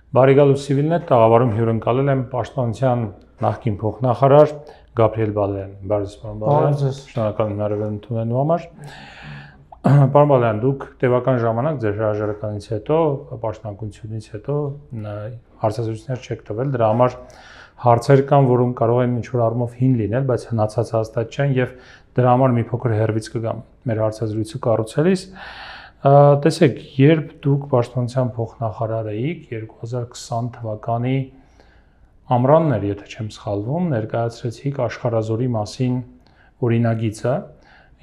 Բարեկալու Սիվիլնետ տաղավարում հյուրընկալել եմ Պաշտպանության նախկին փոխնախարար Գաբրիել Բալայան։ Բարև ձեզ։ Շնորհակալ եմ հնարավորություն ունենալու համար։ Պարոն Բալայան, դուք տևական ժամանակ ձեր հրաժարականից հետո, պաշտպանությունից հետո հարցազրույցներ չեք տվել, դրա համար հարցեր կան, որոնք կարող են ինչ-որ առումով հին լինել, բայց հնացած հաստատ չեն եւ դրա համար մի փոքր հերվից կգամ մեր հարցազրույցը կառուցելիս։ Տեսեք, երբ դուք պաշտպանության փոխնախարար էիք 2020 թվականի ամռանն էր, եթե չեմ սխալվում, ներկայացրեցիք աշխարհազորի մասին օրինագիծը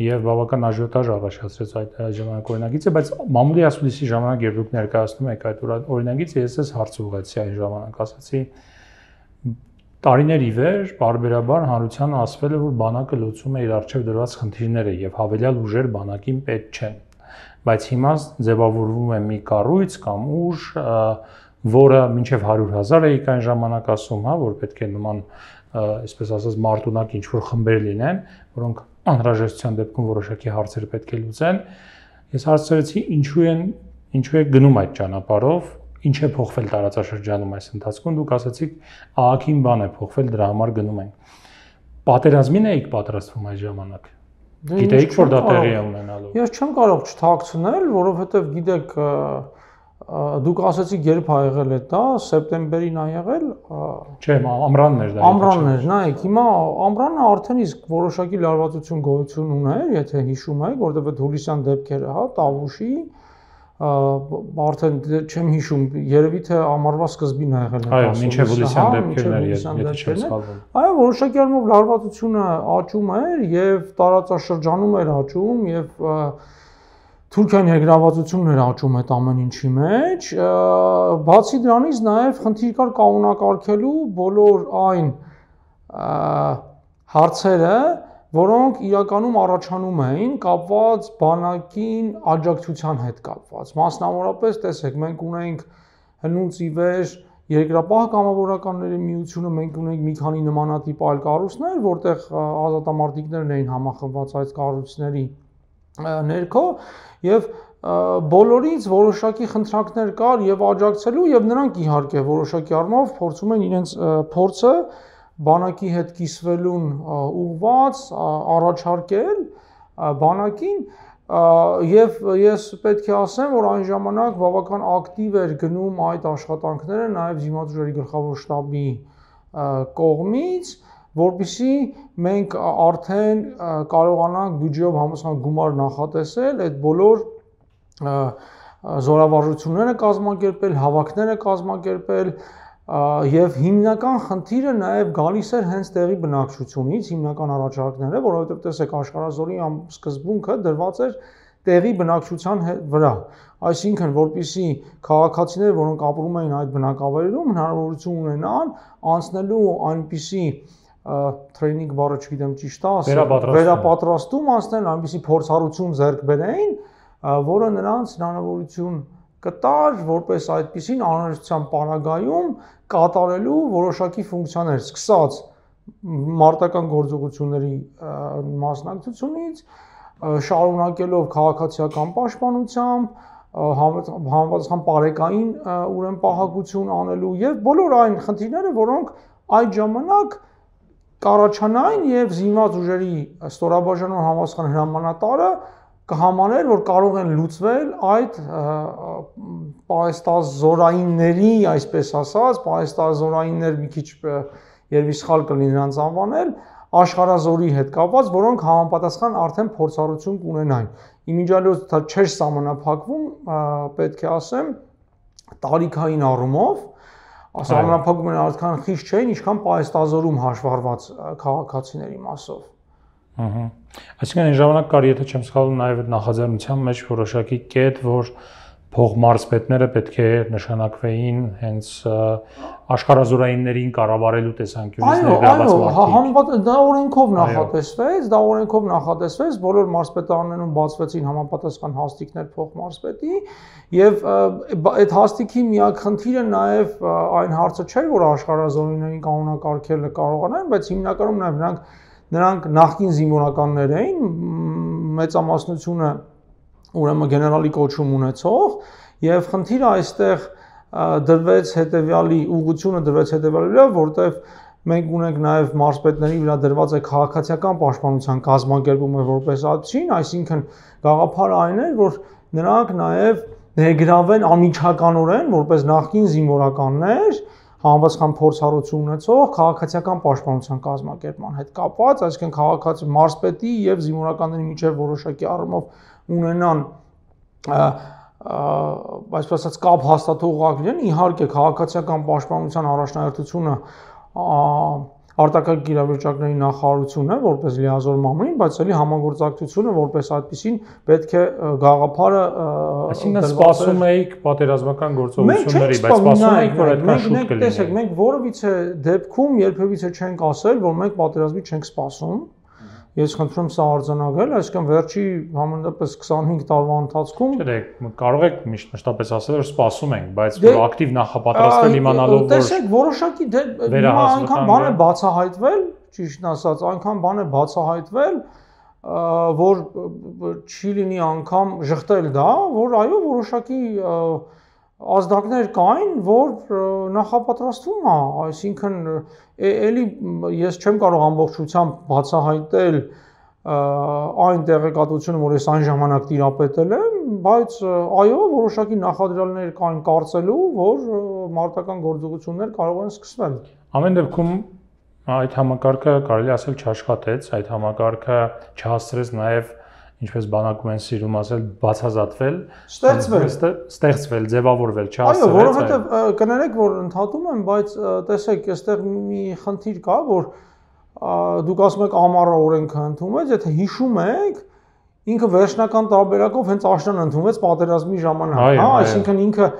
եւ բավական աժիոտաժ առաջացրեց այդ ժամանակ օրինագիծը, բայց մամուլի ասուլիսի ժամանակ երբ դուք ներկայացնում եք այդ օրինագիծը, ես էս հարց ուղղեցի այն ժամանակ, ասացի տարիներ ի վեր բարբերաբար հանրությանը ասվել է, որ բանակը լուծում է իր առջև դրված խնդիրները եւ հավելյալ ուժեր բանակին պետք չեն։ Բայց հիմա ձևավորվում է մի կառույց կամ ուժ, որը մինչև 100,000 էիք այն ժամանակ ասում, հա, որ պետք է նման, այսպես ասած, մարտունակ ինչ-որ խմբեր լինեն, որոնք անհրաժեշտության դեպքում որոշակի հարցեր պետք է լուծեն։ Ես հարցրեցի, ինչու է գնում այդ ճանապարհով, ինչ է փոխվել տարածաշրջանում այս ընթացքում, դուք ասացիք, ահագին բան է փոխվել, դրա համար գնում ենք։ Պատերազմին էիք պատրաստվում այդ ժամանակ։ Գիտեիք, որ դա տեղի է ունենալու։ Ես չեմ կարող չթաքցնել, որովհետև գիտեք, դուք ասացիք երբ ա եղել է դա, սեպտեմբերին ա եղել։ Չէ, ամռանն էր դա։ Ամռանն էր, նայեք, հիմա ամռանը արդեն իսկ որոշակի լարվածություն գոյություն ուներ, եթե հիշում եք, որովհետև այդ հուլիսյան դեպքերը, հա, Տավուշի արդեն չեմ հիշում, երևի թե ամառվա սկզբին ա եղել է դա։ Այո, մինչև հուլիսյան դեպքերն էր, եթե չեմ սխալվում։ Այո, որոշակի առումով լարվածությունը աճում էր եւ տարածաշրջանում էր աճում եւ Թուրքիայի ներգրավվածությունն էր աճում այդ ամեն ինչի մեջ։ Բացի դրանից նաեւ խնդիր կար կանոնակարգելու բոլոր այն հարցերը, որոնք իրականում առաջանում էին կապված բանակին աջակցության հետ կապված։ Մասնավորապես, տեսեք, մենք ունենք հնուց ի վեր երկրապահ կամավորականների միությունը, մենք ունենք մի քանի նմանատիպ այլ կառույցներ, որտեղ ազատամարտիկներն էին համախմբված այդ կառույցների ներքո եւ բոլորից որոշակի խնդրանքներ կար եւ աջակցելու եւ նրանք իհարկե որոշակի առումով փորձում են իրենց փորձը բանակի հետ կիսվելուն ուղղված առաջարկել բանակին եւ ես պետք է ասեմ, որ այն ժամանակ բավական ակտիվ էր գնում այդ աշխատանքները նաեւ Զինված ուժերի գլխավոր շտաբի կողմից, որպեսզի մենք արդեն կարողանանք բյուջեով համապատասխան գումար նախատեսել այդ բոլոր զորավարժությունները կազմակերպել, հավաքները կազմակերպել եւ հիմնական խնդիրը նաեւ գալիս էր հենց տեղի բնակչությունից, հիմնական առաջարկները, որովհետեւ տեսեք աշխարհազորի սկզբունքը դրված էր տեղի բնակչության վրա, այսինքն որպեսզի քաղաքացիները, որոնք ապրում էին այդ բնակավայրերում, հնարավորություն ունենան անցնելու այնպիսի տրեյնինգ բառը չգիտեմ ճիշտ է, վերապատրաստում անցնել, այնպիսի փորձառություն ձեռք բերեին, որը նրանց հնարավորություն կտար, որպես այդպիսին անհրաժեշտության պարագայում կատարելու որոշակի ֆունկցիաներ, սկսած մարտական գործողությունների մասնակցությունից, շարունակելով քաղաքացիական պաշտպանությամբ, համապատասխան պարեկային ուրեմն պահակություն անելու եւ բոլոր այն խնդիրները, որոնք այդ ժամանակ կառաջանային եւ Զինված ուժերի ստորաբաժանման համապատասխան հրամանատարը կհամաներ, որ կարող են լուծվել այդ պահեստազորայինների, այսպես ասած, պահեստազորայիններ մի քիչ երևի սխալ կլինի նրանց անվանել, աշխարհազորի հետ կապված, որոնք համապատասխան արդեն փորձառություն կունենային։ Իմիջիալոց դա չէր սահմանափակվում, պետք է ասեմ, տարիքային առումով, սահմանափակումները արդեն խիստ չէին, ինչքան պահեստազորում հաշվառված քաղաքացիների մասով։ Այսինքն այն ժամանակ կար, եթե չեմ սխալվում, նաև նախաձեռնության մեջ որոշակի կետ, որ փողմարզպետները պետք է նշանակվեին հենց աշխարհազորայիններին կառավարելու տեսանկյունից ներգրաված մարդիկ։ Դա օրենքով նախատեսվեց, բոլոր մարզպետարաններում բացվեցին համապատասխան հաստիկներ փողմարզպետի, եւ այդ հաստիկի միակ խնդիրը նաև այն հարցը չէր, որ աշխարհազորայիններին կանոնակարգելը կարողանան, բայց հիմնականում նաև նրանք նախկին զինվորականներ էին, մեծամասնությունը ուրեմն գեներալի կոչում ունեցող, եւ խնդիրը այստեղ դրվեց հետևյալի ուղղությունը դրվեց հետևյալի վրա, որտեղ մենք ունենք նաև մարզպետների վրա դրված է քաղաքացիական պաշտպանության կազմակերպումը որպես այդպեսին, այսինքն գաղափարը այն է, որ նրանք նաև ներգրավեն անմիջականորեն որպես նախկին զինվորականներ համապատասխան փորձառություն ունեցող քաղաքացիական պաշտպանության կազմակերպման հետ կապված, այսինքն քաղաքացի մարզպետի եւ զինվորականների միջև որոշակի առումով ունենան այսպես ասած կապ հաստատող լինեն, իհարկե քաղաքացիական պաշտպանության առաջնահերթությունը արտակարգ իրավիճակների նախարարությունն է որպես լիազոր մամուլին, բայց ելի համագործակցությունը որպես այդպեսին պետք է գաղափարը այսինքն սպասում էիք պատերազմական գործողությունների, բայց սպասում էիք, որ այդքան շուտ կլինի։ Տեսեք, մենք որևիցե դեպքում երբևիցե չենք ասել, որ մենք պատերազմի չենք սպասում։ Ես խնդրում սա արձանագրել, այսինքն վերջի համենայնպես 25 տարվա ընթացքում կարող եք մշտապես ասել, որ սպասում ենք, բայց որ ակտիվ նախապատրաստվել իմանալով որ տեսեք, որոշակի այնքան բան է բացահայտվել, ճիշտն ասած, այնքան բան է բացահայտվել, որ չի լինի անգամ ժխտել դա, որ այո, որոշակի ազդակներ կային, որ նախապատրաստվում է, այսինքն էլի ես չեմ կարող ամբողջությամբ բացահայտել այն տեղեկատվությունը, որ ես այն ժամանակ տիրապետել եմ, բայց այո, որոշակի նախադրյալներ կային կարծելու, որ մարտական գործողություններ կարող են սկսվել։ Ամեն դեպքում այդ համակարգը կարելի ասել չաշխատեց, այդ համակարգը չհասցրեց նաև ինչպես բանակում են սիրում ասել, բացազատվել, ստեղծվել, ձևավորվել, չհասցրեց։ Այո, որովհետև կներեք, որ ընդհատում եմ, բայց տեսեք, այստեղ մի խնդիր կա, որ դուք ասում եք ամառը օրենքը ընդունվեց, եթե հիշում եք, ինքը վերջնական տարբերակով հենց աշնան ընդունվեց պատերազմի ժամանակ, հա, այսինքն ինքը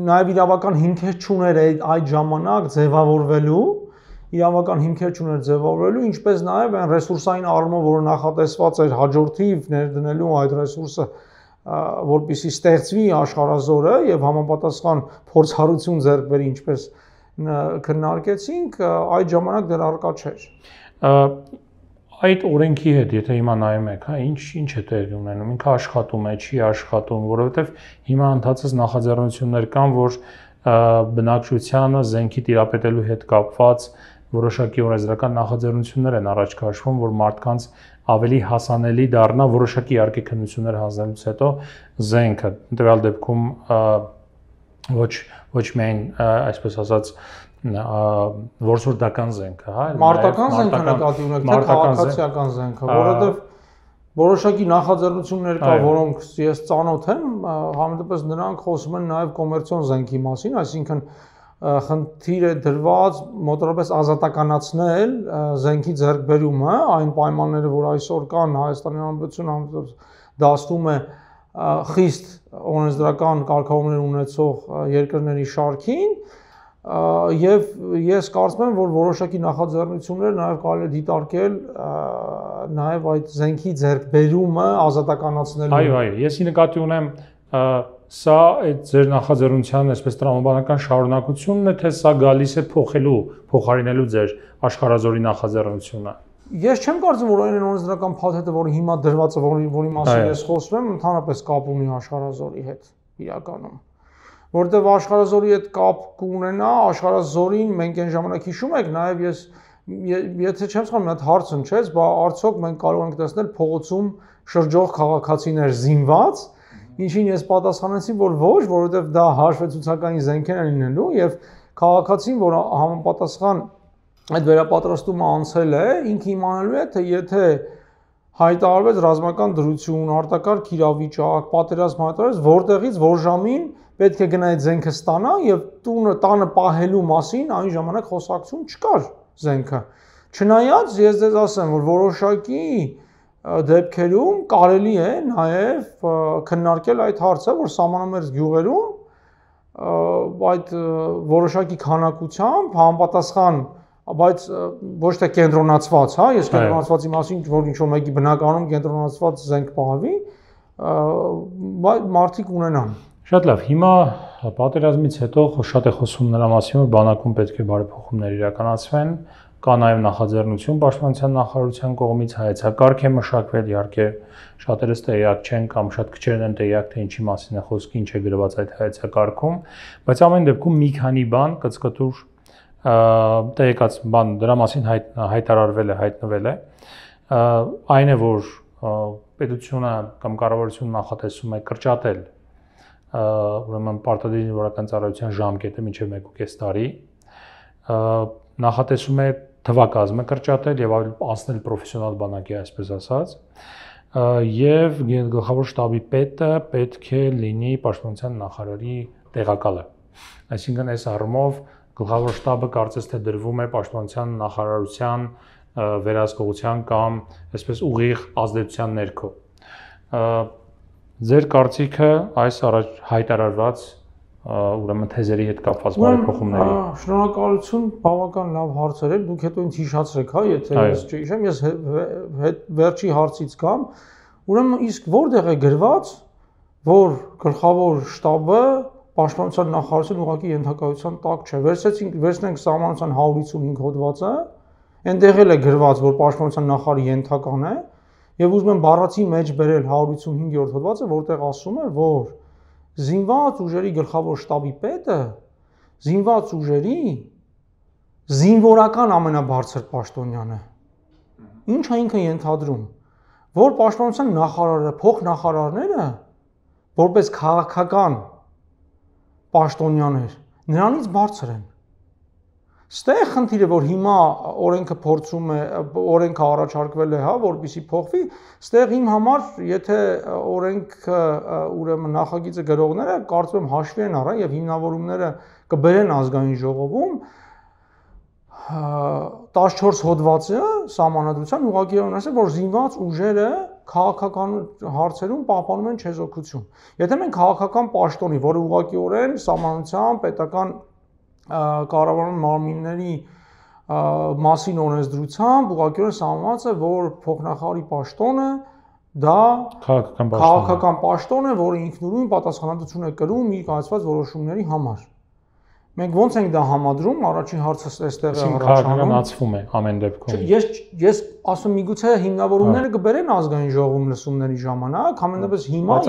նաև իրավական հիմքեր չուներ այդ ժամանակ ձևավորվելու իրավական հիմքեր չուներ ձևավորելու, ինչպես նաև այն ռեսուրսային առումով, որը նախատեսված էր հաջորդիվ ներդնելու այդ ռեսուրսը, որպեսզի ստեղծվի աշխարհազորը եւ համապատասխան փորձառություն ձեռք բերի, ինչպես քննարկեցինք, այդ ժամանակ դեռ առկա չէր։ Այդ օրենքի հետ, եթե հիմա նայում եք, հա, ինչ է տեղի ունենում, ինքը աշխատում է, չի աշխատում, որովհետեւ հիմա ընդհանրապես նախաձեռնություններ կան, որ բնակչությանը զենքի տիրապետելու հետ կապված որոշակի օրենսդրական նախաձեռնություններ են առաջ քաշվում, որ մարդկանց ավելի հասանելի դառնա որոշակի իհարկե քննություններ հանձնելուց հետո զենքը։ Տվյալ դեպքում ոչ միայն այսպես ասած որսորդական զենքը, հա, մարտական զենքը նկատի ունեք, թե քաղաքացիական զենքը, որովհետև որոշակի նախաձեռնություններ կա, որոնք ես ծանոթ եմ, համենայնպես նրանք խոսում են նաև կոմերցիոն զենքի մասին, այսինքն խնդիր է դրված մոտավորապես ազատականացնել զենքի ձեռքբերումը, այն պայմանները, որ այսօր կան Հայաստանի Հանրապետությունը դաստում է խիստ օրենսդրական կարգավորումներ ունեցող երկրների շարքին, եւ ես կարծում եմ, որ որոշակի նախաձեռնություններ նաև կարելի է դիտարկել նաև այդ զենքի ձեռքբերումը ազատականացնելու։ Այո, եսի նկատի ունեմ սա այդ ձեր նախաձեռնության այսպես տրամաբանական շարունակությունն է, թե սա գալիս է փոխարինելու ձեր աշխարհազորի նախաձեռնությունը։ Ես չեմ կարծում, որ այն օրենսդրական փաթեթը, որը հիմա դրված է, որի մասին ես խոսում եմ, ընդհանրապես կապ ունի աշխարհազորի հետ իրականում։ Որտեւ աշխարհազորի հետ կապ կունենա, աշխարհազորին մենք այն ժամանակ հիշում եք, նաև ես եթե չեմ սխալվում, մի հատ հարց հնչեց, բա արդյոք մենք կարող ենք տեսնել փողոցում շրջող քաղաքացիներ զինված, ինչին ես պատասխանեցի, որ ոչ, որովհետեւ դա հաշվետվությունային զենքեր են լինելու եւ քաղաքացին, որ համապատասխան այդ վերապատրաստումը անցել է, ինքը իմանալու է, թե եթե հայտարարվեց ռազմական դրություն, արտակարգ իրավիճակ, պատերազմ հայտարարվեց, որտեղից որ ժամին պետք է գնա այդ զենքը ստանա եւ տանը պահելու մասին այն ժամանակ խոսակցություն չկար զենքը։ Չնայած ես ձեզ ասեմ, որ որոշակի դեպքերում կարելի է նաև քննարկել այդ հարցը, որ սահմանամերձ գյուղերում այդ որոշակի քանակությամբ համապատասխան, բայց ոչ թե կենտրոնացված, հա, ես կենտրոնացվածի մասին որ ինչ-որ մեկի բնականում կենտրոնացված զենք պահվի, մարդիկ ունենան։ Շատ լավ, հիմա պատերազմից հետո շատ է խոսում նրա մասին, որ բանակում պետք է բարեփոխումներ իրականացվեն, կա նաև նախաձեռնություն պաշտպանության նախարարության կողմից, հայեցակարգ է մշակվել, իհարկե շատերս տեղյակ չեն կամ շատ քչերն են տեղյակ, թե ինչի մասին է խոսքը, ինչ է գրված այդ հայեցակարգում, բայց ամեն դեպքում մի քանի բան կծկտուր տեղեկած բան դրա մասին հայտարարվել է, հայտնվել է, այն է, որ պետությունը կամ կառավարությունը նախատեսում է կրճատել ուրեմն պարտադիր զինվորական ծառայության ժամկետը մինչև 1.5 տարի, նախատեսում է թվակազմը կրճատել եւ անցնել պրոֆեսիոնալ բանակի, այսպես ասած, եւ գլխավոր շտաբի պետը պետք է լինի պաշտպանության նախարարի տեղակալը։ Այսինքն այս առումով գլխավոր շտաբը կարծես թե դրվում է պաշտպանության նախարարության վերահսկողության կամ այսպես ուղիղ ազդեցության ներքո։ Ձեր կարծիքը այս առաջ հայտարարված ուրեմն թեզերի հետ կապված բարեփոխումների։ Շնորհակալություն, բավական լավ հարցեր եք, դուք հետո ինձ հիշացրեք, հա, եթե ես չհիշեմ, ես վերջի հարցից կամ, ուրեմն իսկ որտեղ է գրված, որ գլխավոր շտաբը պաշտպանության նախարարության ուղղակի ենթակայության տակ չէ։ Վերցնենք սահմանության 155 հոդվածը, այնտեղ էլ է գրված, որ պաշտպանության նախարարի ենթական է, եւ ուզում եմ բառացի մեջ բերել 155-րդ հոդվածը, որտեղ ասում է, որ զինված ուժերի գլխավոր շտաբի պետը զինված ուժերի զինվորական ամենաբարձր պաշտոնյան է։ Ինչը ինքը ենթադրում, որ պաշտպանության նախարարը, փոխնախարարները որպես քաղաքական պաշտոնյաներ նրանից բարձր են։ Ստեղ խնդիրը, որ հիմա օրենքը փորձում է, օրենքը առաջարկվել է, հա, որպեսզի փոխվի, ստեղ իմ համար, եթե օրենքը ուրեմն նախագիծը գրողները կարծում եմ հաշվի են առան եւ հիմնավորումները կբերեն ազգային ժողովում 14 հոդվածը սահմանադրության ուղղակիորեն ասել, որ զինված ուժերը քաղաքական հարցերում պահպանում են չեզոքություն։ Եթե մենք քաղաքական պաշտոնի, որը ուղղակիորեն սահմանության պետական կառավարման մարմինների մասին օրենսդրությամբ ուղղակիորեն սահմանված է, որ փոխնախարարի պաշտոնը դա քաղաքական պաշտոն է, որը ինքնուրույն պատասխանատվություն է կրում իր կայացված որոշումների համար։ Մենք ոնց ենք դա համադրում, առաջին հարցը այստեղ է առաջանում։ Քաղաքականացվում է ամեն դեպքում։ Ես ասում միգուցե հիմնավորումները կբերեն ազգային ժողովում լսումների ժամանակ, ամենապես հիմա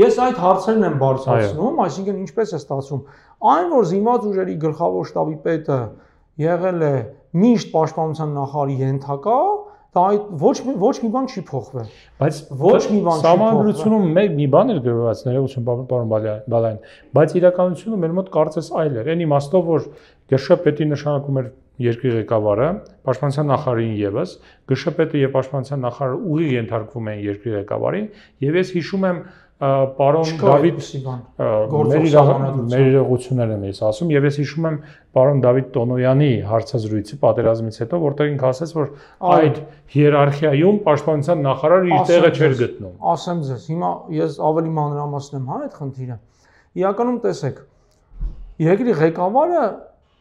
ես այդ հարցերն եմ բարձրացնում, այսինքն ինչպես է ստացվում, այն որ զինված ուժերի գլխավոր շտաբի պետը եղել է միշտ պաշտպանության նախարարի ենթակա, դա ոչ մի բան չի փոխվել։ Բայց ոչ մի բան չի փոխվել։ Սահմանադրությունում մի բան էր գրված, ներողություն պարոն Բալայան, բայց իրականությունը մեր մոտ կարծես այլ էր։ Այն իմաստով, որ ԳՇՊ-ի նշանակում էր երկրի ղեկավարը, պաշտպանության նախարարին եւս, ԳՇՊ-ը եւ պաշտպանության նախարարը ուղիղ ենթարկվում են երկրի ղեկավարին, եւ ես հիշում եմ պարոն Դավիթ մեր իրողություններ եմ ես ասում եւ ես հիշում եմ պարոն Դավիթ Տոնոյանի հարցազրույցը պատերազմից հետո, որտեղ ինքը ասաց, որ այդ հիերարխիայում պաշտպանության նախարարը իր տեղը չէր գտնում։ Ասեմ ձեզ, հիմա ես ավելի մանրամասնեմ, հա, այդ խնդիրը։ Իրականում տեսեք, երկրի ղեկավարը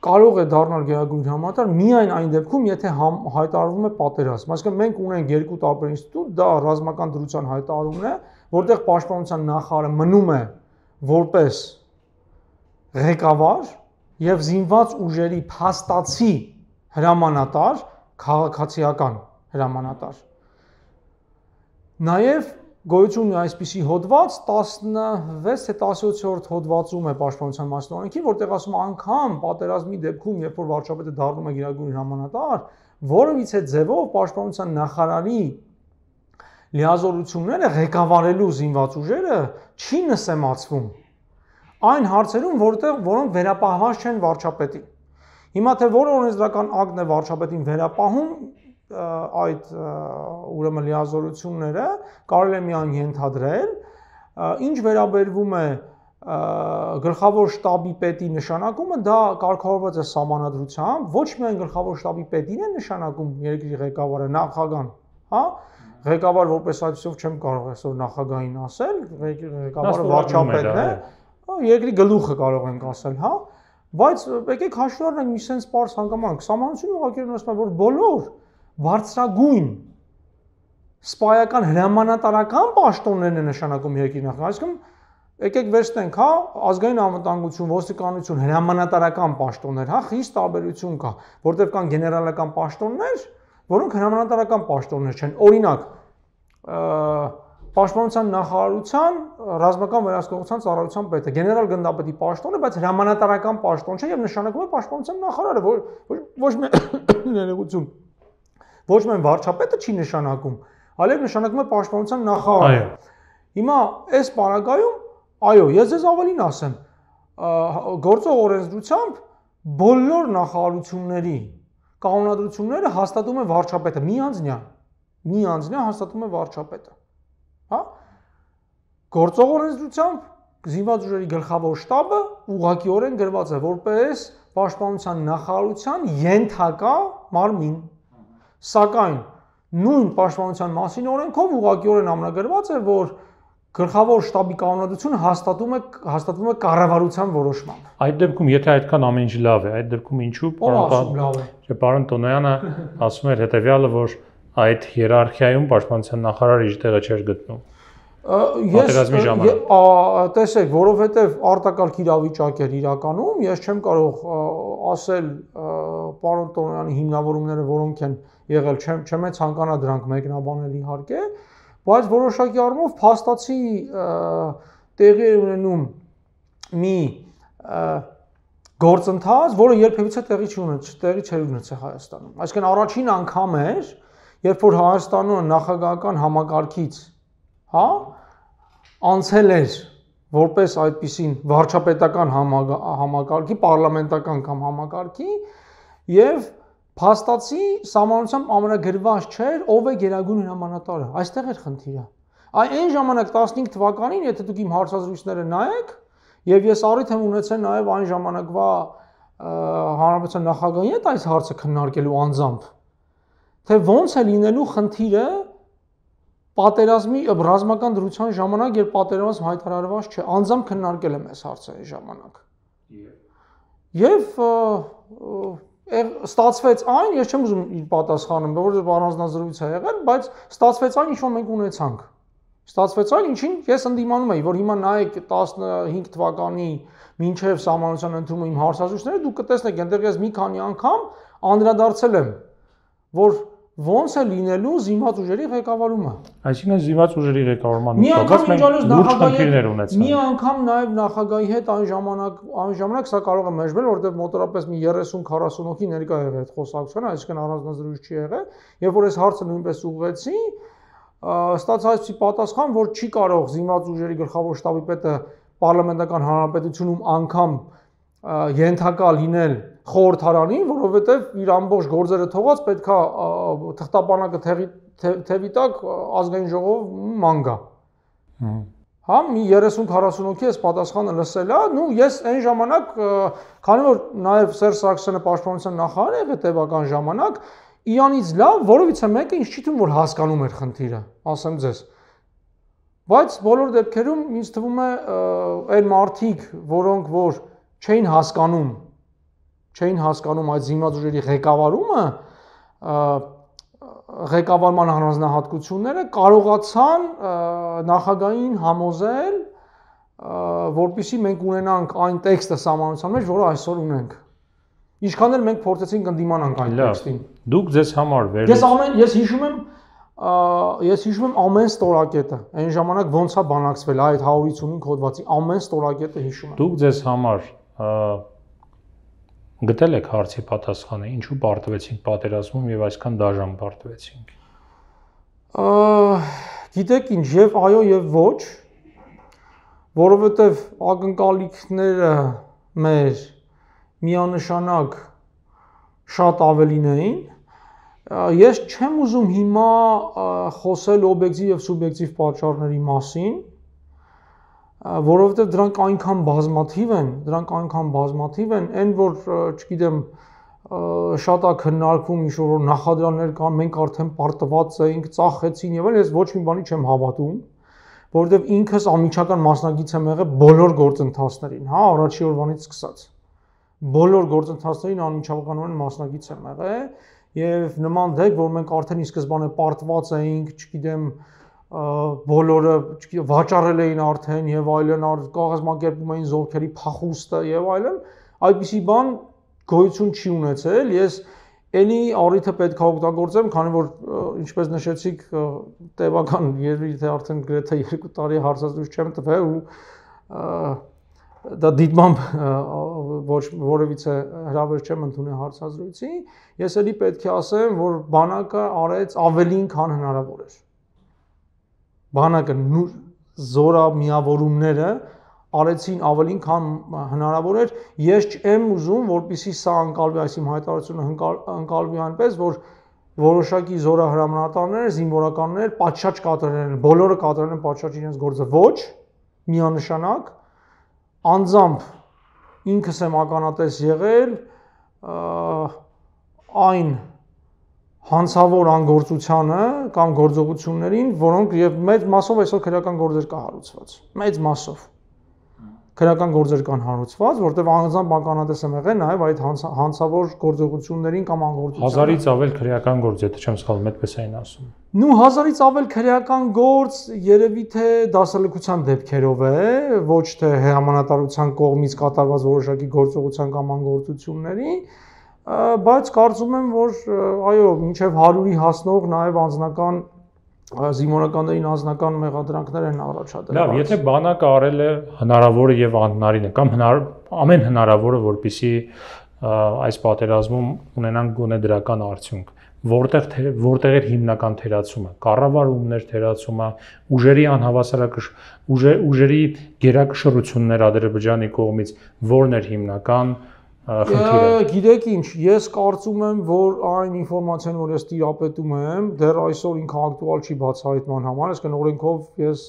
կարող է դառնալ գերագույն հրամանատար միայն այն դեպքում, եթե հայտարարվում է պատերազմ։ Այսինքն մենք ունենք երկու տարբեր ինստիտուտ, դա ռազմական դրության հայտարարումն է, որտեղ պաշտպանության նախարարը մնում է որպես ղեկավար եւ զինված ուժերի փաստացի հրամանատար, քաղաքացիական հրամանատար։ Նաեւ գոյություն ունի այսպիսի հոդված 16 թե 17-րդ հոդվածում է պաշտպանության մասին օրենքի, որտեղ ասում անգամ պատերազմի դեպքում, երբ որ վարչապետը դառնում է գերագույն հրամանատար, որևիցե ձևով պաշտպանության նախարարի լիազորությունները ղեկավարելու զինված ուժերը չի նսեմացվում այն հարցերում, որոնք վերապահված չեն վարչապետին։ Հիմա թե որ օրենսդրական ակտն է վարչապետին վերապահում այդ ուրեմն լիազորությունները կարելի է միայն ենթադրել, ինչ վերաբերվում է գլխավոր շտաբի պետի նշանակումը, դա կարգավորված է սահմանադրությամբ, ոչ միայն գլխավոր շտաբի պետին է նշանակում երկրի ղեկավարը, նախագահան, հա, ղեկավար որպես այդպեսով չեմ կարող այսօր նախագահին ասել, ղեկավարը վարչապետն է, երկրի գլուխը կարող ենք ասել, հա, բայց եկեք հաշվի առնենք մի sense պարզ հանգամանք, սահմանությունը ուղղակի ասում է, որ բոլոր բարձրագույն սպայական հրամանատարական պաշտոններն է նշանակում երկրի նախագահը, այսինքն եկեք վերցնենք, հա, ազգային անվտանգություն, ոստիկանություն, հրամանատարական պաշտոններ, հա, խիստ տարբերություն կա, որտեղ կան գեներալական պաշտոններ, որոնք հրամանատարական պաշտոններ չեն։ Օրինակ, Պաշտպանության նախարարության ռազմական վերահսկողության ծառայության պետը, գեներալ գնդապետի պաշտոն է, բայց հրամանատարական պաշտոն չէ եւ նշանակում է պաշտպանության նախարարը, ոչ մի ներողություն, ոչ միայն վարչապետը չի նշանակում, այլև նշանակում է պաշտպանության նախարարը։ Հիմա այս պարագայում, այո, ես ձեզ ավելին ասեմ, գործող օրենսդրությամբ բոլոր նախարարությունների կանոնադրությունները հաստատում է վարչապետը, միանձնյա հաստատում է վարչապետը։ Հա? Գործող օրենսդրությամբ զինված ուժերի գլխավոր շտաբը ուղղակիորեն գրված է որպես պաշտպանության նախարարության ենթակա մարմին։ Սակայն նույն պաշտպանության մասին օրենքով ուղղակիորեն ամրագրված է, որ գլխավոր շտաբի կանոնադրությունը հաստատվում է կառավարության որոշմամբ։ Այդ դեպքում, եթե այդքան ամեն ինչ լավ է, այդ դեպքում ինչու պարոն Տոնոյանը ասում էր հետևյալը, որ այդ հիերարխիայում պաշտպանության նախարարը իր տեղը չէր գտնում։ Պատերազմի ժամանակ։ Տեսեք, որովհետև արտակարգ իրավիճակ էր իրականում, ես չեմ կարող ասել պարոն Տոնոյանի հիմնավորումները որոնք են եղել, չեմ ցանկանա դրանք մեկնաբանել իհարկե, բայց որոշակի առումով փաստացի տեղի է ունենում մի գործընթաց, որը երբևիցե տեղի չէր ունեցել Հայաստանում։ Այսինքն առաջին անգամ էր, երբ որ Հայաստանում նախագահական համակարգից, հա, անցել էր որպես այդպիսին վարչապետական համակարգի, պարլամենտական կամ համակարգի եւ փաստացի սահմանությամբ ամենագրված չէր ով է գերագույն հրամանատարը։ Այստեղ էր խնդիրը։ Այն ժամանակ 15 թվականին, եթե դուք իմ հարցազրույցները նայեք, եւ ես առիթ եմ ունեցել նաեւ այն ժամանակվա հանրապետության նախագահի հետ այս հարցը քննարկելու անձամբ, թե ոնց է լինելու խնդիրը պատերազմի ռազմական դրության ժամանակ, երբ պատերազմ հայտարարված չէ, անձամբ քննարկել եմ այս հարցը այն ժամանակ։ Եվ ստացվեց այն, ես չեմ ուզում իր պատասխանեմ, որովհետև առանձնազրույց է եղել, բայց ստացվեց այն, ինչ որ մենք ունեցանք։ Ստացվեց այն, ինչին ես ընդդիմանում էի, որ հիմա նայեք 15 թվականի մինչև սահմանության ընդունումը իմ հարցազրույցները, դուք կտեսնեք, այնտեղ ես մի քանի անգամ անդրադարձել եմ, որ ոնց է լինելու զինված ուժերի ղեկավարումը։ Այսինքն զինված ուժերի ղեկավարման նկատմամբ մենք լուրջ խնդիրներ ունեցանք։ Մի անգամ նաև նախագահի հետ այն ժամանակ սա կարող է մեջբել, որովհետև մոտորապես մի 30-40 հոգի ներկա եղել այդ խոսակցությանը, այսինքն առանձնազրույց չի եղել, եւ որ այս հարցը նույնպես ուղղեցի, ստացա այսպիսի պատասխան, որ չի կարող զինված ուժերի գլխավոր շտաբի պետը պարլամենտական հանրապետությունում անգամ ենթակա լինել խորհրդարանին, որովհետև իր ամբողջ գործերը թողած պետքա թղթապանակը թևի տակ ազգային ժողով ման գա։ Հա, մի 30-40 հոգի այս պատասխանը լսել է, նու ես այն ժամանակ, քանի որ նաև Սերժ Սարգսյանը պաշտպանության նախարար եղել տևական ժամանակ, իրանից լավ, որովհետև մեկը ինձ չի թվում, որ հասկանում էր խնդիրը, ասեմ ձեզ։ Բայց բոլոր դեպքերում ինձ թվում է այն մարդիկ, որոնք որ չէին հասկանում այդ զինված ուժերի ղեկավարումը, ղեկավարման առանձնահատկությունները կարողացան նախագահին համոզել, որպեսզի մենք ունենանք այն տեքստը սահմանության մեջ, որը այսօր ունենք։ Ինչքան էլ մենք փորձեցինք ընդդիմանանք այն տեքստին։ Դուք ձեզ համար Ես հիշում եմ ամեն ստորակետը, այն ժամանակ ոնց է բանակցվել այդ 155 հոդվածի ամեն ստորակետը հիշում եմ։ Դուք ձեզ համար գտել եք հարցի պատասխանը, ինչու պարտվեցինք պատերազմում եւ այսքան դաժան պարտվեցինք։ Գիտեք ինչ, եւ այո եւ ոչ, որովհետեւ ակնկալիքները մեր միանշանակ շատ ավելին էին։ Ես չեմ ուզում հիմա խոսել օբյեկտիվ եւ սուբյեկտիվ պատճառների մասին, որովհետեւ դրանք այնքան բազմաթիվ են, այն որ, չգիտեմ, շատ է քննարկվում ինչ-որ նախադրյալներ կան, մենք արդեն պարտված էինք, ծախեցին եւ այլն, ես ոչ մի բանի չեմ հավատում, որովհետեւ ինքս անմիջական մասնակից եմ եղել բոլոր գործընթացներին, հա, առաջի օրվանից սկսած։ Բոլոր գործընթացներին անմիջականորեն մասնակից եմ եղել եւ նման դեպք, որ մենք արդեն ի սկզբանե պարտված էինք, չգիտեմ, բոլորը վաճառել էին արդեն եւ այլն, կազմակերպում էին զորքերի փախուստը եւ այլն, այդպիսի բան գոյություն չի ունեցել։ Ես Էլի առիթը պետք է օգտագործեմ, քանի որ ինչպես նշեցիք, տևական երևի թե արդեն գրեթե 2 տարի հարցազրույց չեմ տվել ու դա դիտմամբ ոչ որևիցե հրավեր չեմ ընդունել հարցազրույցի, ես էլի պետք է ասեմ, որ բանակը արեց ավելին, քան հնարավոր էր։ Բանակը զորամիավորումները արեցին ավելին, քան հնարավոր էր։ Ես չեմ ուզում, որպեսզի սա ընկալվի, այս իմ հայտարարությունը ընկալվի այնպես, որ որոշակի զորահրամանատարներ, զինվորականներ պատշաճ կատարել են, բոլորը կատարել են պատշաճ իրենց գործը, ոչ, միանշանակ, անձամբ ինքս եմ ականատես եղել այն հանցավոր անգործությանը կամ գործողություններին, որոնք եւ մեծ մասով այսօր քրեական գործեր կա հարուցված, մեծ մասով քրեական գործեր կան հարուցված, որտեղ անձամբ ականատես եմ եղել նաև այդ հանցավոր գործողություններին կամ անգործություններին։ 1000-ից ավել քրեական գործ, եթե չեմ սխալվում, այդպես էին ասում։ Նու 1000-ից ավել քրեական գործ երևի թե դասալքության դեպքերով է, ոչ թե հրամանատարության կողմից կատարված որոշակի գործողության կամ անգործությունների, բայց կարծում եմ, որ այո, մինչև 100-ի հասնող նաև անձնական զինվորականներին անձնական մեղադրանքներ են առաջադրել։ Լավ, եթե բանակը արել է հնարավորը եւ անհնարինը կամ ամեն հնարավորը, որպեսզի այս պատերազմում ունենան գոնե դրական արդյունք, որտեղ էր հիմնական թերացումը, կառավարումներ թերացումը, ուժերի ուժերի գերակշռություններ Ադրբեջանի կողմից, որն էր հիմնական խնդիրը։ Գիտեք ինչ, ես կարծում եմ, որ այն ինֆորմացիան, որ ես տիրապետում եմ, դեռ այսօր ինքը ակտուալ չի բացահայտման համար, այսինքն օրենքով ես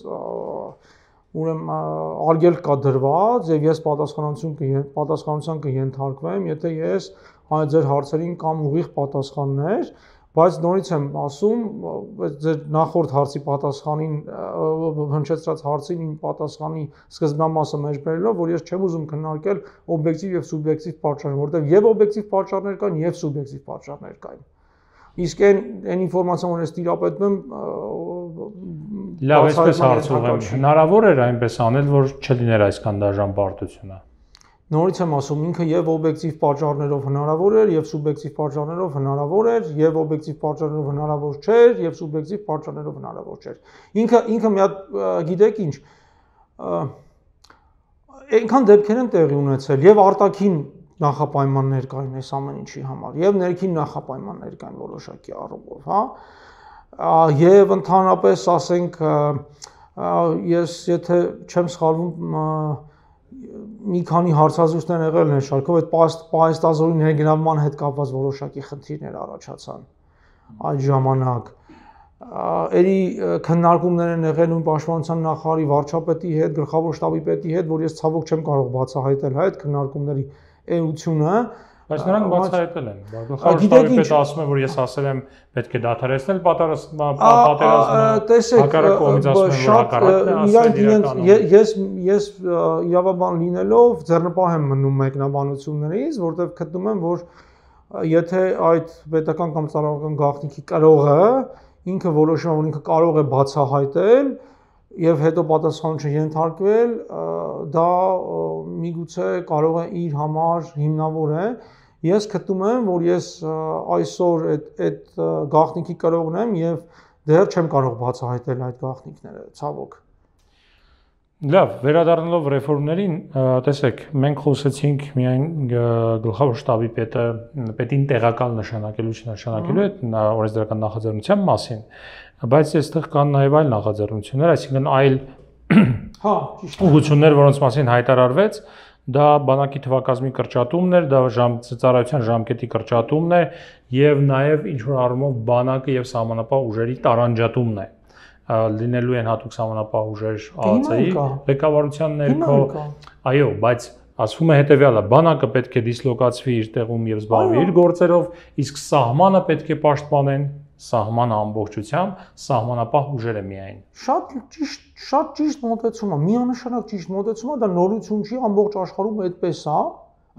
ուրեմն արգելք կա դրված եւ ես պատասխանատվության կենթարկվեմ, եթե ես այդ ձեր հարցերին կամ ուղիղ պատասխաններ, բայց նորից եմ ասում, ձեր նախորդ հարցի պատասխանին հնչեցրած հարցին իմ պատասխանի սկզբնամասը մեջ բերելով, որ ես չեմ ուզում քննարկել օբյեկտիվ եւ սուբյեկտիվ պատճառներ, որտեղ եւ օբյեկտիվ պատճառներ կան եւ սուբյեկտիվ պատճառներ կան։ Իսկ այն ինֆորմացիան, որ ես տիրապետում եմ, լավ, այսպես հարցում եմ, հնարավոր էր այնպես անել, որ չլիներ այսքան դաժան պարտությունը։ Նորից եմ ասում, ինքը եւ օբյեկտիվ պատճառներով հնարավոր էր, եւ սուբյեկտիվ պատճառներով հնարավոր էր, եւ օբյեկտիվ պատճառներով հնարավոր չէր, եւ սուբյեկտիվ պատճառներով հնարավոր չէր։ Ինքը մի հատ գիտեք ինչ, այնքան դեպքեր են տեղի ունեցել, եւ արտաքին նախապայմաններ կային այս ամեն ինչի համար, եւ ներքին նախապայմաններ կային որոշակի առումով, հա։ Եվ ընդհանրապես ասենք, ես եթե չեմ սխալվում, մի քանի հարցազրույցներ եղել են շարքով, այդ պահեստազորի ներգրավման հետ կապված որոշակի խնդիրներ առաջացան այդ ժամանակ։ Էլի քննարկումներ են եղել նույն պաշտպանության նախարարի վարչապետի հետ, գլխավոր շտաբի պետի հետ, որ ես ցավոք չեմ կարող բացահայտել այդ քննարկումների էությունը, բայց նրանք բացահայտել են։ Գլխավոր շտաբի պետը ասում է, որ ես ասել եմ պետք է դադարեցնել պատերազմը, հակառակ կողմից ասում եմ, որ հակառակն է ասել իրականում։ Ես իրավաբան լինելով ձեռնպահ եմ մնում մեկնաբանություններից, որտեղ գտնում եմ, որ եթե այդ պետական կամ ծառայական գաղտնիքի կրողը ինքը որոշում է, որ ինքը կարող է բացահայտել եւ հետո պատասխանատվություն ենթարկվել, դա միգուցե կարող է իր համար հիմնավոր է։ Ես գտնում եմ, որ ես այսօր այդ գաղտնիքի կրողն եմ եւ դեռ չեմ կարող բացահայտել այդ գաղտնիքները, ցավոք։ Լավ, վերադառնալով ռեֆորմներին, տեսեք, մենք խոսեցինք միայն գլխավոր շտաբի պետին տեղակալ նշանակելու չնշանակելու այդ օրենսդրական նախաձեռնության մասին, բայց այստեղ կան նաև այլ նախաձեռնություններ, այսինքն այլ ուղղություններ, որոնց մասին հայտարարվեց, դա բանակի թվակազմի կրճատումն էր, դա ծառայության ժամկետի կրճատումն է եւ նաեւ ինչ որ առումով բանակը եւ սահմանապահ ուժերի տարանջատումն է։ Լինելու են հատուկ սահմանապահ ուժեր ԱԱՑ-ի ղեկավարության ներքո, այո, բայց ասվում է հետեւյալը, բանակը պետք է դիսլոկացվի իր տեղում եւ զբաղվի իր գործերով, իսկ սահմանը պետք է պաշտպանեն սահմանը ամբողջությամբ, սահմանապահ ուժերը միայն։ Շատ ճիշտ մոտեցում է, միանշանակ ճիշտ մոտեցում է, դա նորություն չի, ամբողջ աշխարհում այդպես է,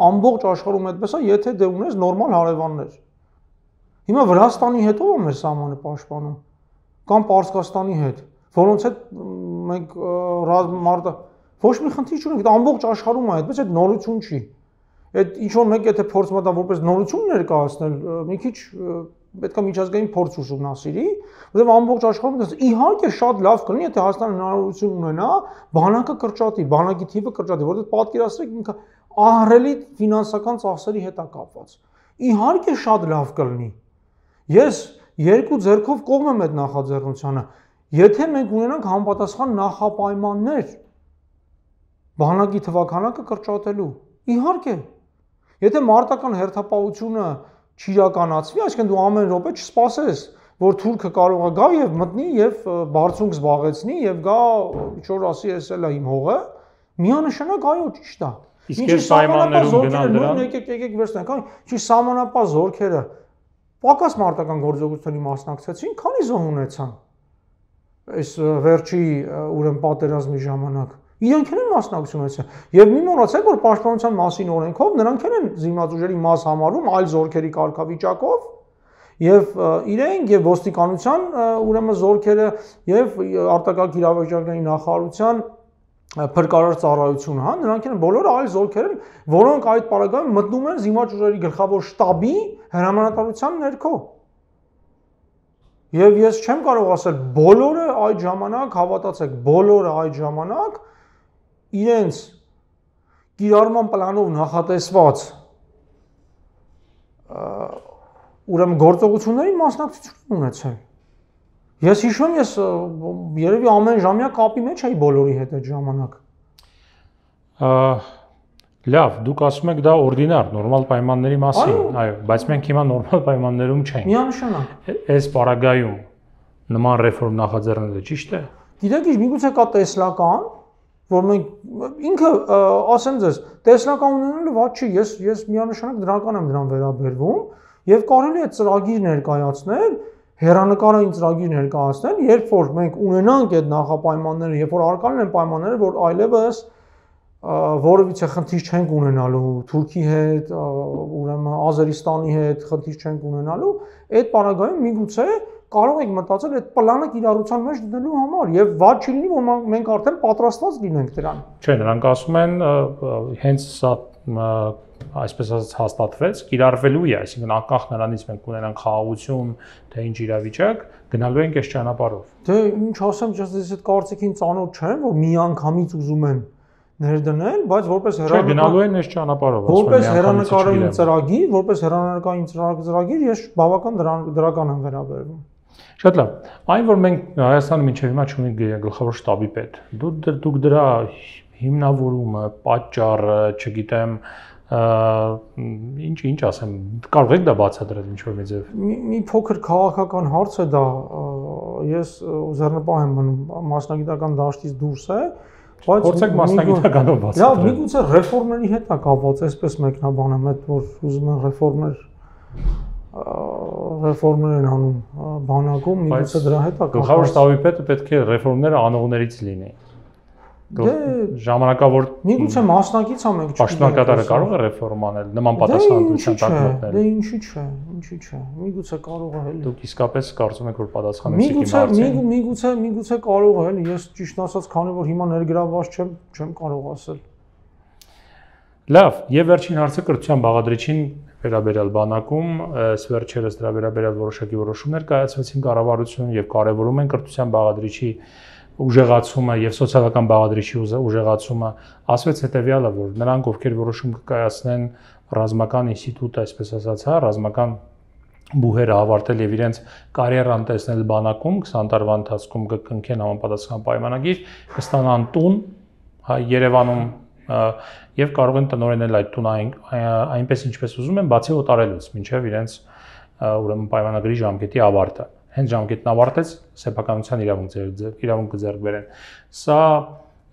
ամբողջ աշխարհում այդպես է, եթե դե ունես նորմալ հարևաններ։ Հիմա Վրաստանի հետ ով է մեր սահմանը պաշտպանում, կամ Պարսկաստանի հետ։ որոնց հետ մենք մարտը ոչ մի խնդիր չունենք, դա ամբողջ աշխարհում է այդպես, այդ նորություն չի։ Այդ ինչ որ մեկ եթե փորձում ա դա որպես նորություն ներկայացնել, մի քիչ պետք է միջազգային փորձ ուսումնասիրի, որովհետև ամբողջ աշխարհում դա իհարկե շատ լավ կլինի, եթե Հայաստանը հնարավորություն ունենա բանակը կրճատի, բանակի թիվը կրճատի, որովհետև պատկերացրեք ինքը ահռելի ֆինանսական ծախսերի հետ է կապված։ Իհարկե շատ լավ կլինի։ Ես երկու ձեռքով կողմ եմ այդ նախաձեռնությանը։ Եթե մենք ունենանք համապատասխան նախապայմաններ բանակի թվաքանակը կրճատելու, իհարկե։ Եթե մարտական հերթապահությունը չիրականացվի, այսինքն դու ամեն րոպե չսպասես, որ թուրքը կարող է գա եւ մտնի եւ բարձունք զբաղեցնի եւ գա ինչ որ ասի էս էլ է իմ հողը, միանշանակ այո ճիշտ է։ Իսկ այս պայմաններում գնալ դրան, եկեք վերցնենք, ինչի սահմանապահ զորքերը պակաս մարտական գործողությունների մասնակցեցին, քանի զոհ ունեցան այս վերջի ուրեմն պատերազմի ժամանակ։ Իրանք են մասնակցություն ունեցել։ Եվ մի մոռացեք, որ պաշտպանության մասին օրենքով նրանք են զինված ուժերի մաս համարում այլ զորքերի կարգավիճակով եւ իրենք եւ ոստիկանության ուրեմն զորքերը եւ արտակարգ իրավիճակների նախարարության փրկարար ծառայությունը, հա, նրանք են բոլորը այլ զորքեր են, որոնք այդ պարագայում մտնում են զինված ուժերի գլխավոր շտաբի հրամանատարության ներքո։ Եվ ես չեմ կարող ասել բոլորը այդ ժամանակ, հավատացեք, բոլորը այդ ժամանակ իրենց կիրառման պլանով նախատեսված ուրեմն գործողությունների մասնակցություն ունեցել։ Ես հիշում եմ, ես երևի ամեն ժամյա կապի մեջ էի բոլորի հետ այդ ժամանակ։ Լավ, դուք ասում եք դա օրդինար, նորմալ պայմանների մասին, այո, բայց մենք հիմա նորմալ պայմաններում չենք։ Միանշանակ։ Այս պարագայում նման ռեֆորմ նախաձեռնելը ճիշտ է։ Գիտեք, միգուցե կա տեսլական, որ մենք ինքը ասեմ ձեզ, տեսլական ունենալը վատ չի, ես միանշանակ դրական եմ դրան վերաբերվում եւ կարելի է ծրագիր ներկայացնել, հերանեկարային ծրագիր ներկայացնել, երբ որ մենք ունենանք այդ նախապայմանները, երբ որ արկալն են պայմանները, որ այլևս որևիցե խնդիր չենք ունենալու Թուրքի հետ, ուրեմն Ազերիստանի հետ խնդիր չենք ունենալու, այդ պարագայում միգուցե կարող եք մտածել այդ պլանը կիրառության մեջ դնելու համար եւ վատ չի լինի, որ մենք արդեն պատրաստված լինենք դրան։ Չէ, նրանք ասում են հենց սա այսպես ասած հաստատվեց, կիրառվելու է, այսինքն անկախ նրանից մենք ունենանք խաղաղություն, թե ինչ իրավիճակ, գնալու ենք այս ճանապարհով։ Դե ինչ ասեմ, ես այդ կարծիքին ծանոթ չեմ, որ միանգամից ուզում են ներդնել, բայց որպես գնալու են այս ճանապարհով, որպես հերանեկարային ծրագիր, որպես հերանեկարային ծրագիր ես բավական դրական եմ վերաբերվում։ Շատ լավ։ Այն որ մենք Հայաստանը մինչև հիմա չունենք գլխավոր շտաբի պետ, դուք դրա հիմնավորումը, պատճառը, չգիտեմ, ինչ ասեմ, կարող եք դա բացատրել ինչ որ մի ձև։ Մի փոքր քաղաքական հարց է դա, ես ձեռնպահ եմ մնում, մասնագիտական դաշտից դուրս է, բայց փորձեք մասնագիտականով բացատրել։ Լավ, միգուցե ռեֆորմերի հետ է կապված, այսպես մեկնաբանեմ, այդ որ ուզում են ռեֆորմներ են անում բանակում, միգուցե դրա հետ է կապված։ Գլխավոր շտաբի պետը պետք է ռեֆորմները անողներից լինի։ Ժամանակավոր միգուցե մասնակից ամենք չի։ Պաշտոնակատարը կարող է ռեֆորմ անել, նման պատասխանատվության տակ մտնել։ Դե ինչի՞ չէ, միգուցե կարող է էլի։ Դուք իսկապես կարծում եք, որ պատասխանեցիք իմ հարցին։ Միգուցե կարող է էլի, ես ճիշտ ասած, քանի որ հիմա ներգրավված չեմ կարող ասել։ Լավ, եւ վերջին հարցը կրթության բաղադրիչին վերաբերյալ բանակում, այս վերջերս դրա վերաբերյալ որոշակի որոշումներ կայացվեցին կառավարությունում եւ կարեւորում են կրթության բաղադրիչի ուժեղացումը եւ սոցիալական բաղադրիչի ուժեղացումը, ասվեց հետեւյալը, որ նրանք ովքեր որոշում կկայացնեն ռազմական ինստիտուտը, այսպես ասած, հա, ռազմական բուհերը ավարտել եւ իրենց կարիերան տեսնել բանակում 20 տարվա ընթացքում կկնքեն համապատասխան պայմանագիր, կստանան տուն, հա, Երևանում եւ կարող են տնօրինել այդ տունը այնպես ինչպես ուզում են, բացի օտարելուց, մինչեւ իրենց ուրեմն պայմանագրի ժամկետի ավարտը։ Հենց ժամկետն ավարտեց, սեփականության իրավունք ձեռք բերեն։ Սա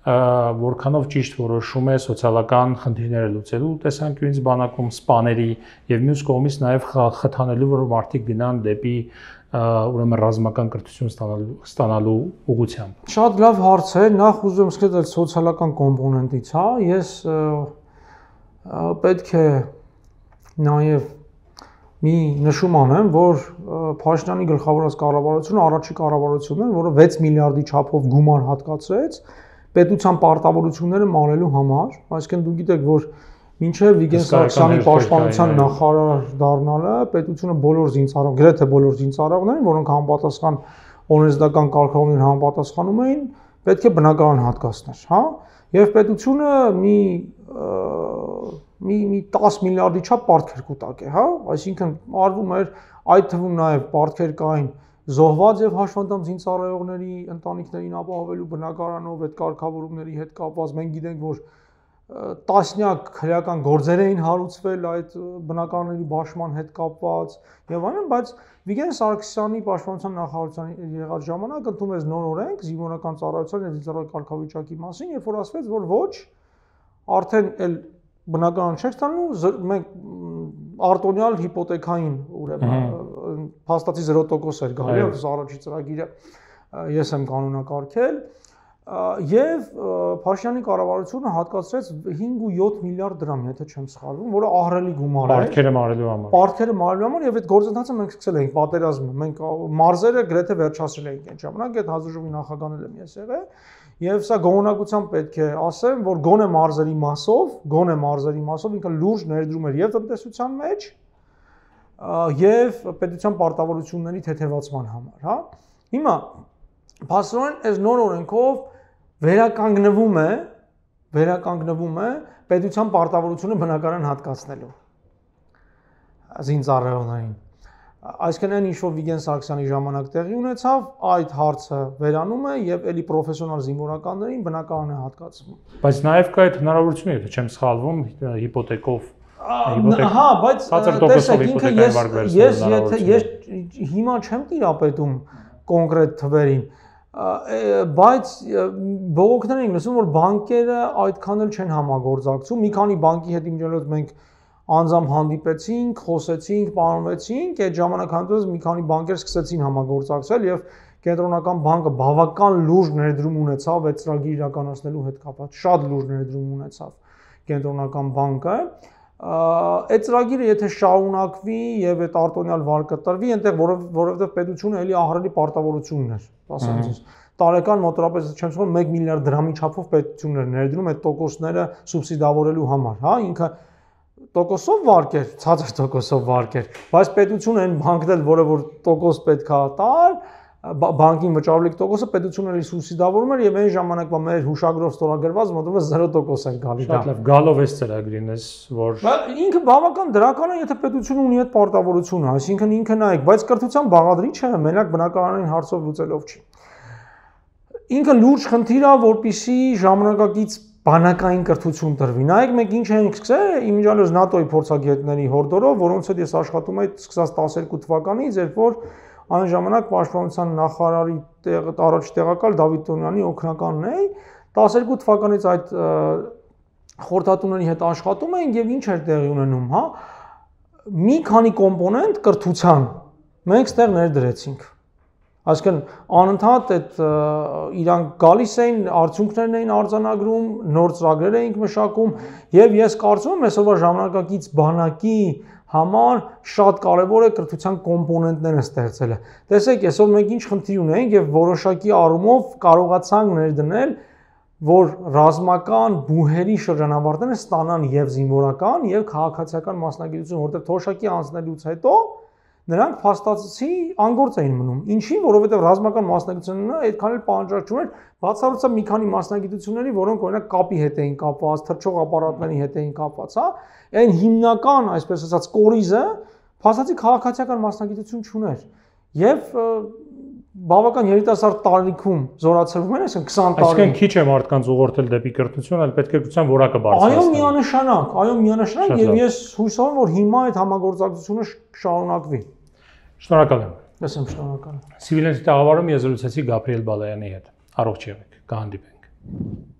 որքանով ճիշտ որոշում է սոցիալական խնդիրները լուծելու տեսանկյունից բանակում, սպաների եւ մյուս կողմից նաեւ խթանելու, որ մարդիկ գնան դեպի ուրեմն ռազմական կրթություն ստանալու ուղղությամբ։ Շատ լավ հարց է, նախ ուզում եմ սկսել սոցիալական կոմպոնենտից, հա, ես պետք է նաեւ մի նշում անեմ, որ Փաշինյանի գլխավորած կառավարությունը առաջի կառավարությունն է, որը 6 միլիարդի չափով գումար հատկացրեց պետության պարտավորությունները մանելու համար, այսինքն դուք գիտեք, որ մինչև Վիգեն Սարգսյանի պաշտպանության նախարար դառնալը պետությունը բոլոր զինծառայողներին, գրեթե բոլոր զինծառայողներին, որոնք համապատասխան օրենսդրական կարգավորումներին համապատասխանում էին, պետք է բնակարան հատկացներ, հա? Եվ պետությունը մի 10 միլիարդի չափ պարտքեր կուտակ է, հա? Այսինքն արվում էր այդ թվում նաև պարտքեր կային զոհված եւ հաշվանդամ զինծառայողների ընտանիքներին ապահովելու բնակարանով այդ կարգավորումների հետ կապված մենք գիտենք, որ տասնյակ քրեական գործեր էին հարուցվել այդ բնակարանների բաշխման հետ կապված եւ այլն, բայց Վիգեն Սարգսյանի պաշտպանության նախարարության եղած ժամանակ ընդունվեց նոր օրենք զինվորական ծառայության եւ զինծառայողի կարգավիճակի մասին, երբ որ ասվեց, որ ոչ, արդեն էլ բնականon չեք ստանում, մենք արտոնյալ հիպոթեքային ուրեմն փաստացի 0% էր գալի, այս առաջի ծրագիրը ես եմ կանոնակարգել եւ Փաշինյանի կառավարությունը հատկացրեց 5.7 միլիարդ դրամ, եթե չեմ սխալվում, որը ահռելի գումար է։ Պարտքերը մարելու համար։ Պարտքերը մարելու համար եւ այդ գործընթացը մենք սկսել էինք պատերազմը, մենք մարզերը գրեթե վերջացրել էինք այդ ժամանակ, այդ հանձնաժողովի նախագահն եմ ես եղել եւ սա գոնողությամբ պետք է ասեմ, որ գոնե մարզերի մասով ինքը լուրջ ներդրում էր եւ տնտեսության մեջ եւ պետության պարտավորությունների թեթևացման համար, հա։ Հիմա փաստորեն այս նոր օրենքով վերականգնվում է պետության պարտավորությունը բնակարան հատկացնելու զինծառայողներին։ Այսինքն այն ինչ որ Վիգեն Սարգսյանի ժամանակ տեղի ունեցավ, այդ հարցը վերանում է եւ էլի պրոֆեսիոնալ զինվորականներին բնակարան է հատկացվում։ Բայց նաեւ կա այդ հնարավորությունը, եթե չեմ սխալվում, հիպոթեկով Հա, բայց տեսեք, ինքը ես հիմա չեմ տիրապետում կոնկրետ թվերին, բայց բողոքներ ենք լսում, որ բանկերը այդքան էլ չեն համագործակցում, մի քանի բանկի հետ իմիջիայլոց մենք անձամբ հանդիպեցինք, խոսեցինք, պարոնվեցինք, այդ ժամանակ հանդիպած մի քանի բանկեր սկսեցին համագործակցել եւ կենտրոնական բանկը բավական լուրջ ներդրում ունեցավ այդ ծրագիրը իրականացնելու հետ կապված, շատ լուրջ ներդրում ունեցավ կենտրոնական բանկը։ Այդ ծրագիրը եթե շարունակվի եւ այդ արտոնյալ վարկը տրվի, այնտեղ որովհետեւ պետությունը էլի ահռելի պարտավորություն ուներ, ասեմ ձեզ։ Տարեկան մոտավորապես չեմ ասում 1 միլիարդ դրամի չափով պետություններ ներդնում այդ տոկոսները սուբսիդավորելու համար, հա, ինքը տոկոսով վարկեր, ցածր տոկոսով վարկեր, բայց պետությունը այն բանկն էլ, որը որ տոկոս պետքա տար, բանկին վճարվելիք տոկոսը պետությունը էլի սուբսիդավորում էր եւ այն ժամանակվա մեր հուշագրով ստորագրված մոտավորապես 0% էր գալի դա։ Շատ լավ, գալով էս ծրագրին էս, որ ինքը բավական դրական է, եթե պետությունը ունի այդ պարտավորությունը, այսինքն ինքը նայեք, բայց կրթության բաղադրիչը մենակ բնակարանային հարցով լուծելով չի։ Ինքը լուրջ խնդիր է, որպեսզի ժամանակակից բանակային կրթություն տրվի։ Նայեք, մենք ինչ ենք սկսել, իմիջիայլոց ՆԱՏՕ-ի փորձագետների հորդորով, որոնց հետ ես աշխատում եմ սկսած 12 թվականից, երբ որ այն ժամանակ պաշտպանության նախարարի առաջ տեղակալ Դավիթ Տոնյանի օգնականն էի, 12 թվականից այդ խորհրդատուների հետ աշխատում էինք եւ ինչ էր տեղի ունենում, հա, մի քանի կոմպոնենտ կրթության մենք ստեղ ներդրեցինք։ Այսինքն անընդհատ այդ իրանք գալիս էին, արդյունքներն էին արձանագրում, նոր ծրագրեր էինք մշակում եւ ես կարծում եմ այսօրվա ժամանակակից բանակի համար շատ կարևոր է կրթության կոմպոնենտները ստեղծելը։ Տեսեք, այսօր մենք ինչ խնդիր ունենք եւ որոշակի առումով կարողացանք ներդնել, որ ռազմական բուհերի շրջանավարտները ստանան եւ զինվորական եւ քաղաքացիական մասնագիտություն, որտեղ թոշակի անցնելուց հետո նրանք փաստացի անգործ էին մնում։ Ինչի՞, որովհետև ռազմական մասնագիտությունը այդքան էլ պահանջարկում էր, բացառությամբ մի քանի մասնագիտությունների, որոնք օրինակ կապի հետ էին կապված, թռչող ապարատների հետ էին կապված, հա, այն հիմնական, այսպես ասած, կորիզը փաստացի քաղաքացիական մասնագիտություն չուներ։ Եվ բավական երիտասարդ տարիքում զորացրվում են, այսինքն 20 տարի։ Այսինքն քիչ է մարդկանց ուղղորդել դեպի կրթություն, այլ պետք է կրթության որակը բարձրացնել։ Այո, միանշանակ, եւ ես հույս ունեմ, որ հիմա այդ համագործակցությունը շարունակվի։ Շնորհակալ եմ։ Ես եմ շնորհակալ։ Սիվիլների տաղավարում ես զրուցեցի Գաբրիել Բալայանի հետ։ Առողջ եղեք, կհանդիպենք։